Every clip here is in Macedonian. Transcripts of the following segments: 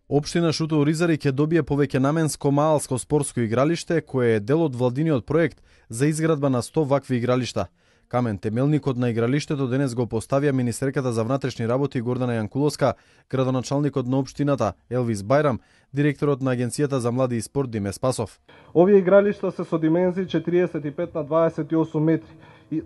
Општина Шуто Оризари ќе добие повеќенаменско маалско спортско игралиште, кое е дел од владиниот проект за изградба на 100 вакви игралишта. Камен темелникот на игралиштето денес го поставија министерката за внатрешни работи Гордана Јанкуловска, градоначалникот на општината Елвис Бајрам, директорот на Агенцијата за млади и спорт Диме Спасов. Овие игралишта се со димензии 45 на 28 метри.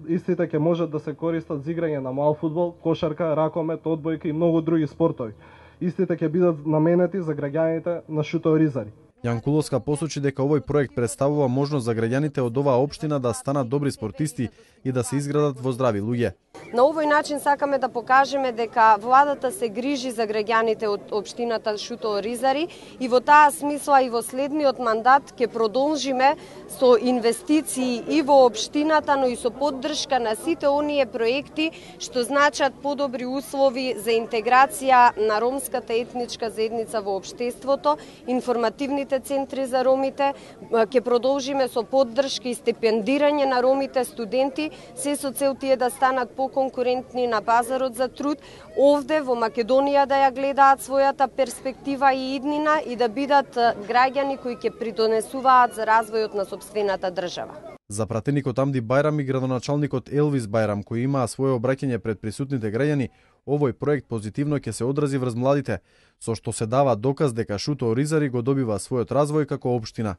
Истите ќе можат да се користат за играње на мал фудбал, кошарка, ракомет, одбојка и многу други спортови. Истите ќе бидат наменети за граѓаните на Шуто Оризари. Јанкуловска посочи дека овој проект представува можност за граѓаните од оваа општина да станат добри спортисти и да се изградат во здрави луѓе. На овој начин сакаме да покажеме дека владата се грижи за граѓаните од општината Шуто Оризари и во таа смисла и во следниот мандат ќе продолжиме со инвестиции и во општината, но и со поддршка на сите оние проекти што значат подобри услови за интеграција на ромската етничка заедница во општеството, информативните центри за ромите, ќе продолжиме со поддршка и стипендирање на ромите студенти, се со цел тие да станат поконкурентни на пазарот за труд, овде во Македонија да ја гледаат својата перспектива и иднина и да бидат граѓани кои ќе придонесуваат за развојот на сопствената држава. За пратеникот Амди Бајрам и градоначалникот Елвис Бајрам, кои имаа свое обраќање пред присутните граѓани, овој проект позитивно ќе се одрази врз младите, со што се дава доказ дека Шуто Оризари го добива својот развој како општина.